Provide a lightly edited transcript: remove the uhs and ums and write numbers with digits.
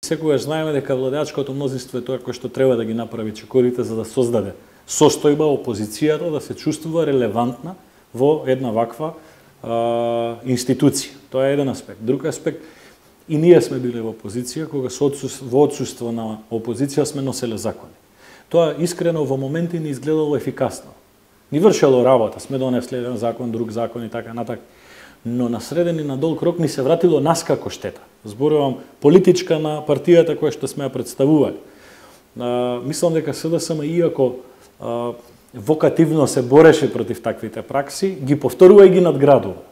Секогаш знаеме дека владеачкото мнозинство е тоа кој што треба да ги направи чекорите за да создаде состојба опозицијата да се чувствува релевантна во една ваква институција. Тоа е еден аспект. Друг аспект, и ние сме биле во опозиција кога во отсуство на опозиција сме носеле закони. Тоа искрено во моменти не изгледало ефикасно. Ни вршело работа, сме донесле еден закон, друг закон и така натака. Но на среден и на долг рок ни се вратило нас како штета. Зборувам политичка на партијата која што сме ја представували. Мислам дека СДСМ, иако вокативно се бореше против таквите пракси, ги повторува и ги надградува.